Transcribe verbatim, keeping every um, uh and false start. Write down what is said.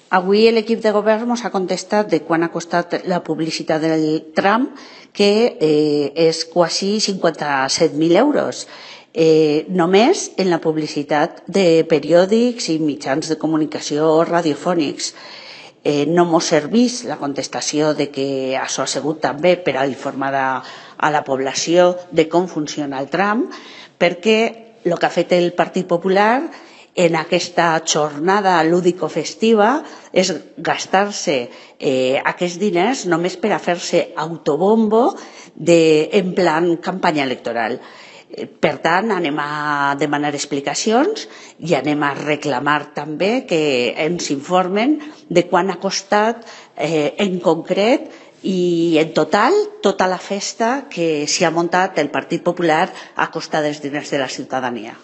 Avui l'equip de govern ens ha contestat de quan ha costat la publicitat del tram, que eh, és quasi cinquanta-set mil euros. Eh, només en la publicitat de periòdics i mitjans de comunicació radiofònics. Eh, no mos serveix la contestació de que això ha sigut també per a informar a la població de com funciona el tram, perquè el que ha fet el Partit Popular en aquesta jornada lúdico-festiva és gastar-se eh, aquests diners només per a fer-se autobombo de, en plan campanya electoral. Per tant, anem a demanar explicacions i anem a reclamar també que ens informen de quan ha costat eh, en concret i en total tota la festa que s'hi ha muntat el Partit Popular a costa dels diners de la ciutadania.